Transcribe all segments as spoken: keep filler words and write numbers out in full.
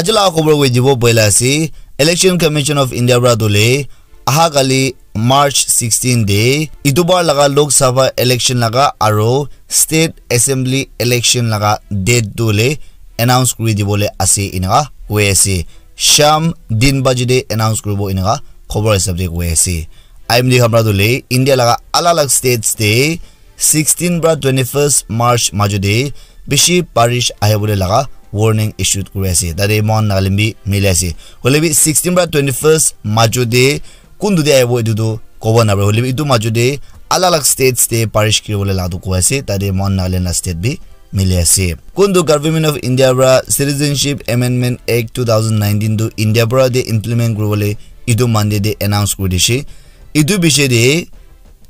Jila khobor koi dibo boila ase, Election Commission of India pra tu le aha kali March sixteen de itubar laga Lok Sabha election laga aro State Assembly election laga date tu le announce kuri dibole ase inaka koi ase. Sham din baji de announce kuribo inaka khobor hisab de koi ase. I M D khan pra tu le India laga alag alag states de sixteen pra twenty-first March majo de bishi barish ahibole laga warning issued kuri ase. Tate mohan Nagaland bi mili ase. Hoile bi sixteen pra twenty-first majo de kuntu de ahibo etu tu kobo napare. Hoile bi etu majo de alag alag states de barish kiribole laga tu koi ase. Tate mohan Nagaland la state bi mili ase. Kuntu Government of India pra Citizenship Amendment Act two thousand nineteen tu India pra de implement kuribole etu Monday de announce kuri dishe. Etu bishe de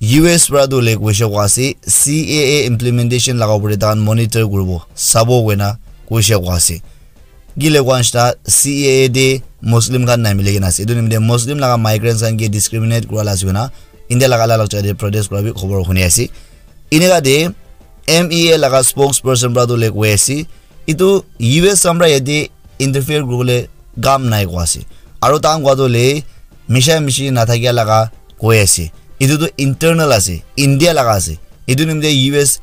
U S pra tu le koishe kwa ase, C A A implementation laga upor de tahan monitor kuribo, sabo koina koishe kwa ase. Kile kwa nishina C A A de Muslim khan nai mili kena ase. Etu nimite Muslim laga migrants khan ke discriminate kura la ase koina India laga alag alag jaga de protest kura bi khobor huni ase. Inika de M E A laga spokesperson pra tu le koi ase, etu U S khan pra yate interfere kuribole kam nai koi ase. Aro tahan koi tu le misha mishi nathakia laga koi ase. Etu tu internal ase, India laga ase. Etu nimite U S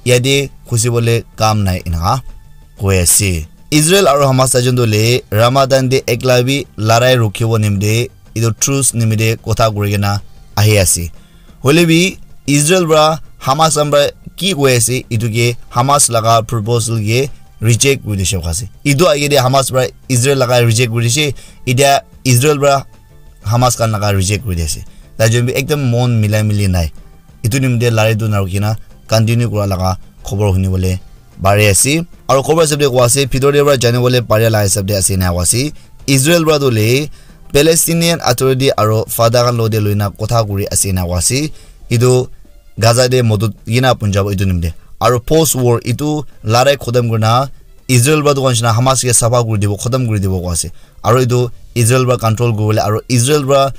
yate khusibole kam nai inaka koi ase. Israel aro Hamas tajon tu le Ramadan de ekla bi larai rukhibo nimite etu truce nimite kotha kuri kena ahi ase. Hoile bi Israel pra Hamas khan pra ki koi ase, etu ke Hamas laga proposal ke reject kuri dishe koi ase. Etu age de Hamas pra Israel laga reject kuri dishe, etia Israel pra Hamas khan laga reject kuri di ase. Tajon bi ekdam mon milai mili nai. Etu nimite larai tu narukhi na continue kura laga khobor huni bole pari ase. Aro khobor hisab de koi ase, bhitor de pra jani bole pari la hisab de ase na koi ase. Israel pra tu le Palestinian Authority aro Fatah khan lo de loina kotha kuri ase na koi ase. Etu Gaza de modot yina punjabo etu nimite. Aro post war etu larai khotom kurina Israel pra tu koi nishina Hamas ke sapha kuri dibo, khotom kuri dibo koi ase. Aro etu Israel pra control kuribole aro Israel pra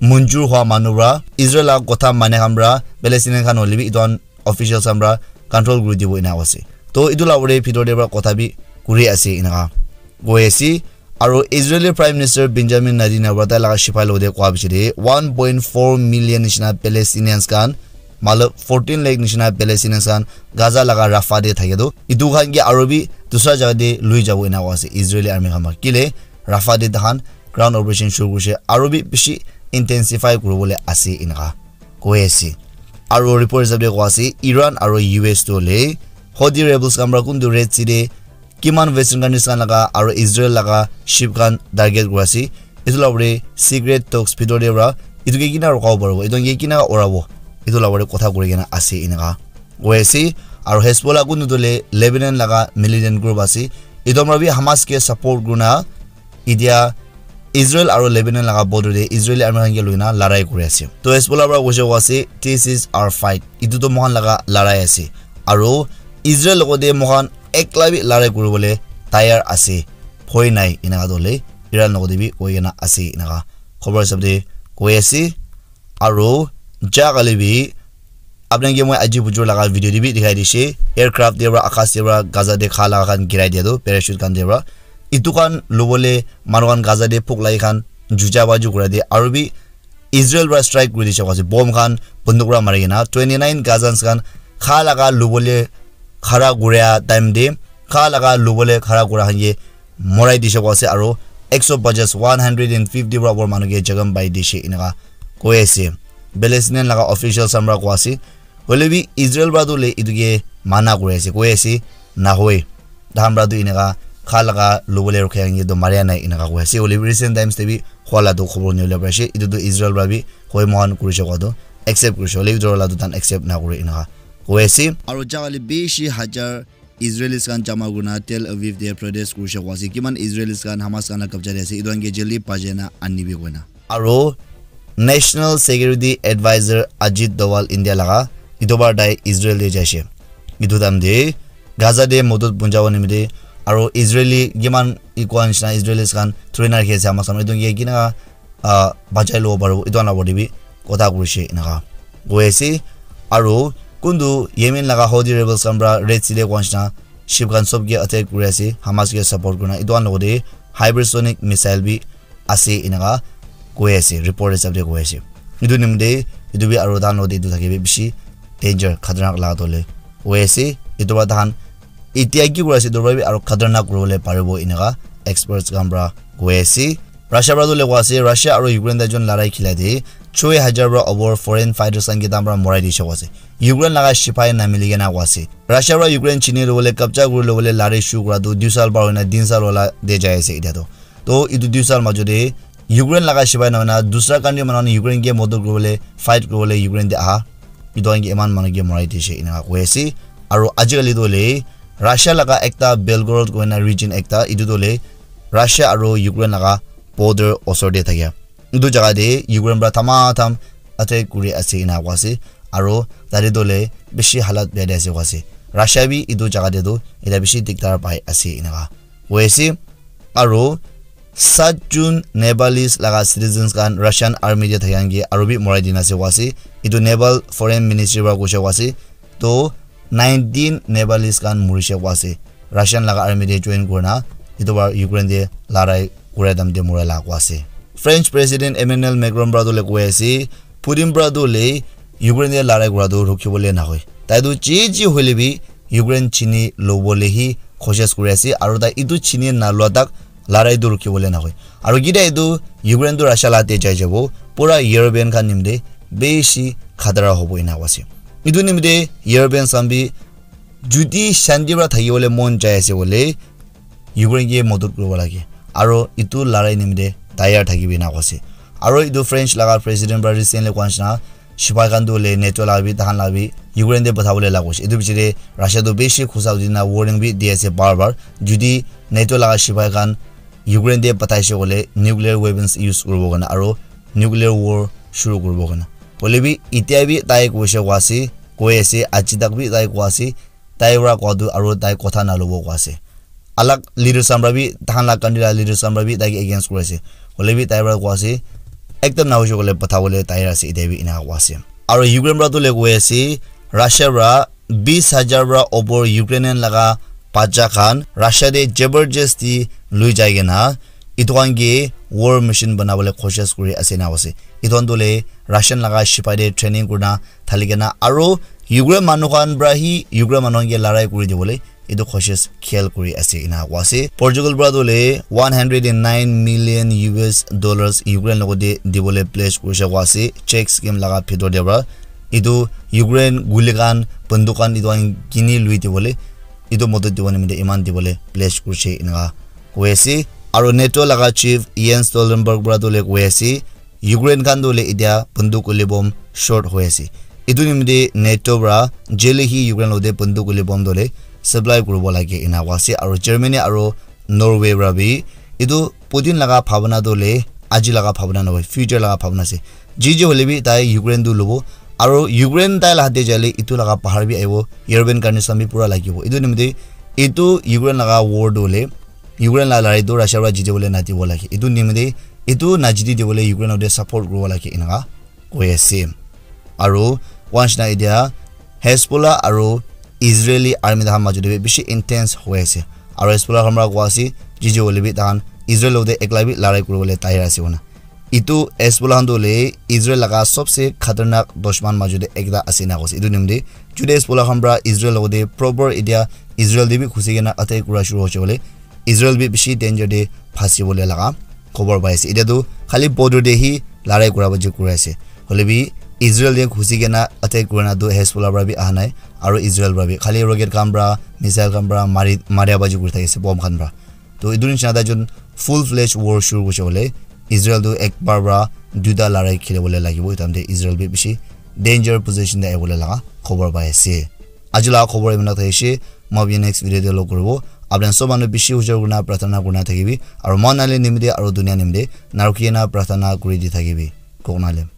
munjur hwa manu pra, Israel la kotha mane khan pra, Palestinian khan hoile bi etu khan officials khan pra control kuri dibo ena ase. To etu la ore bhitor de pra kotha bi kuri ase enaka koi ase. Aro Israeli Prime Minister Benjamin Netanyahu pra tai laga sipai logote koa bishi de one point four million nishina Palestinians khan, matlab fourteen lakh nishina Palestinians khan Gaza laga Rafah de thake tu, etu khan ke aro bi dusra jaga de lui jabo ena koa ase Israeli army khan pra. Kile Rafah de tahan ground operation shuru kurishe, aro bi bishi intensify kuribole ase enaka koi ase. Aro report hisab de koa ase Iran aro U S tu hoile Houthi rebels khan pra kuntu Red Sea de kiman Western countries khan laga aro Israel laga ship khan target kuri ase. Etu la ore secret talks bhitor de pra etu ke kina rukabo paribo, etu ke kina orabo, etu la ore kotha kuri kena ase enaka koi ase. Aro Hezbollah kuntu tu le Lebanon laga militant group ase, etu pra bi Hamas ke support kurina etia Israel aro Lebanon laga border de Israeli army khan ke loina larai kuri ase. To Hezbollah pra koishe koa ase, "This is our fight." Etu to moikhan laga larai ase. Aro Israel logote moikhan ekla bi larai kuribole tayar ase. Bhoi nai, enaka to hoile Iran logote bi koi kena ase enaka khobor hisab de koi ase. Aro ja kali bi apni ke moi aji bujur laga video de bi dikhai dishe, aircraft de pra, akas de pra, Gaza de kha laga khan girai dia tu, parachute khan de pra. Etu khan lobole manu khan Gaza de phuk lagi khan juja baju kura de, aro bi Israel pra strike kuri dishe koa ase, bomb khan bunduk pra mari kena twenty nine Gazans khan kha laga lobole khara kuria time de, kha laga lobole khara kura khan ke morai dishe koa ase, aro ekso pajas, one hundred and fifty pra upor manu ke jakham pai dishe enaka koi ase. Palestinian laga officials khan pra koa ase. Hoile bi Israel pra tu le etu ke mana kuri ase, koi ase, "Nahoi. Tahan pra tu enaka kha laga lobole rukhe ange to maria nai," enaka koi ase. Hoile bi recent times de bi hua la tu khobor nibole pari ase. Etu tu Israel pra bi hoi moikhan kurishe koa tu accept kurishe. Hoile bi etu la tu tahan accept na kure enaka koi ase. Aro ja kali bishi hajar Israelis khan jama kurina Tel Aviv de protest kurishe koa ase. Kiman Israelis khan Hamas khan la kabja de ase, etu khan ke jaldi bajai na anibi koina. Aro National Security Advisor Ajit Doval India laga etu bar tai Israel de jaishe. Etu time de Gaza de modot punjabo nimite aro Israeli kiman ikwa nishina Israelis khan thori na rakhi ase Hamas khan, etu ke kina ah, bachai lobo paribo, etu khan la opor te bi kotha kurishe enaka koi ase. Aro kuntu Yemen laga Houthi rebels khan pra Red Sea te koa nishina ship khan sob ke attack kuri ase, Hamas ke support kurina, etu khan logote hypersonic missile bi ase eneka koi ase, report hisab te koi ase. Etu nimite etu bi aro tahan lode etu thake bi bishi danger, khatarnak laga tole koi ase. Etu para tahan etia ki kuri ase, etu para bi aro khatarnak kuribole paribo eneka experts khan para koi ase. Russia para tu lekwa ase, Russia aro Ukraine tai jon larai khila de choi hajar para over foreign fighters khan ke tahan para morai dishe koi ase. Ukraine laga sipai na mili kena koi ase. Russia para Ukraine chini lobole, kabja kuri lobole larai shuru kura tu dui sal par hoina tin sal wala de jai ase etia tu. To etu dui sal majo de Ukraine laga sipai na hoina dusra country manu khan Ukraine ke modot kuribole, fight kuribole Ukraine de aha. Etu khan ke eman manu ke morai dishe eneka koi ase. Aro ajikali tu hoile Russia laga ekta Belgorod koina region ekta, etu tu hoile Russia aro Ukraine laga border osor de thakia. Etu jaga de Ukraine para thama tham attack kuri ase eneka koi ase. Aro tate tu hoile bishi halat bia de ase koi ase. Russia bi etu jaga de tu eta bishi dikdar pai ase eneka koi ase. Aro sat jon Nepalese laga citizens khan Russian army de thakya khan ke aro bi morai dina ase koi ase. Etu Nepal foreign ministry para koishe koi ase. To nineteen Nepalese khan morishe koi ase. Russian laga army de join kurina etu para Ukraine de larai kuria time de morai la koi ase. French President Emmanuel Macron para tu le koi ase, Putin para tu le Ukraine de larai kura tu rukibole nahoi. Tai tu ji ji hoile bi Ukraine chini lobole hi koshish kuri ase, aro tai etu chini nalua tak larai tu rukibole nahoi. Aro kita etu Ukraine tu Russia la te jai jabo, pura European khan nimite bishi khatara hobo eneka koi ase. Etu nimite European khan bi jodi shanti para thakibole mon jai ase bole, Ukraine ke modot kuribo lage. Aro etu larai nimite tayar thakibi eneka koi ase. Aro etu French laga president para recently koi nishina, sipai khan tu hoile NATO laga bi, tahan laga bi Ukraine te pathabole laga hoise. Etu piche te Russia tu bishi khusa udi na warning bi di ase bar bar. Jodi NATO laga sipai khan Ukraine te pathaise koile nuclear weapons use kuribo karne aro nuclear war shuru kuribo karne. Hoile bi etia bi tai koise koi ase, koi ase, aji tak bi tai koi ase, tai para koa tu aro tai kotha nalobo koi ase. Alag leaders khan para bi, tahan laga country laga leaders khan para bi tai ke against kuri ase. Hoile bi tai para koi ase, ekdam nahoise koile pathabole tayar ase, etia bi eneka koi ase. Aro Ukraine para tu le koi ase, Russia para bis hajar para opor Ukrainian laga bacha khan Russia te jabardasti lui jai kena etu khan ke war machine banabole koshish kuri ase eneka koi ase. Etu khan tu le Russian laga sipai te training kurina thali kena aro Ukraine manu khan para hi Ukraine manu khan ke larai kuri dibole etu koshish khel kuri ase eneka koi ase. Portugal para tu hoile one hundred and nine million U S dollars Ukraine logote dibole pledge kurishe koi ase, Czech scheme laga bhitor te para. Etu Ukraine guli khan, banduk khan etu khan kini lui dibole, etu modot dibo nimite eman dibole pledge kurishe eneka koi ase. Aro NATO laga chief Jens Stoltenberg para tu hoile koi ase, Ukraine khan tu hoile etia banduk guli bom short hoi ase. Etu nimite NATO para jeli hi Ukraine logote banduk guli bom tu hoile supply kuribo lage eneka koi ase. Aro Germany aro Norway para bi etu Putin laga bhabana tu hoile aji laga bhabana nohoi, future laga bhabana ase. Ji ji hoile bi tai Ukraine tu lobo. Aro Ukraine tai laga hath te jaile etu laga bahar bi ahibo, European countries khan bi pura lagibo. Etu nimite etu Ukraine laga war tu hoile Ukraine laga larai tu Russia para jitibole nadibo lage. Etu nimite etu najiti dibole Ukraine logote support kuribo lage eneka koi ase. Aro koi nishina etia Hezbollah aro Israeli army tahan majo te bi bishi intense hoi ase. Aro Hezbollah khan para koi ase, ji ji hoile bi tahan Israel logote ekla bi larai kuribole tayar ase koina. Etu Hezbollah khan tu hoile Israel laga sobse khatarnak dushman majo te ekta ase eneka koi ase. Etu nimite jodi Hezbollah khan para Israel logote proper etia Israel te bi khusi kena attack kura shuru hoise koile, Israel bi bishi danger te phasi bole laga khobor pai ase. Etia tu khali border te hi larai kura baji kuri ase. Hoile bi Israel te khusi kena attack kurina tu Hezbollah para bi aha nai, aro Israel para bi khali rocket khan para, missile khan para mari, maria baji kuri thaki ase, bomb khan para. To etu nishina tai jon full fledged war shuru kurise koile, Israel tu ek bar para duita larai kheli bole lagibo. Etu time te Israel bi bishi danger position te ahi bole laga khobor pai ase. Aji laga khobor eman thakise, moi apni next video te log kuribo. Apni sob manu bishi hujur kurina prarthana kurina thakibi, aro moi nale nimite aro dunia nimite narukhi kena prarthana kuri di thakibi. Koknalem.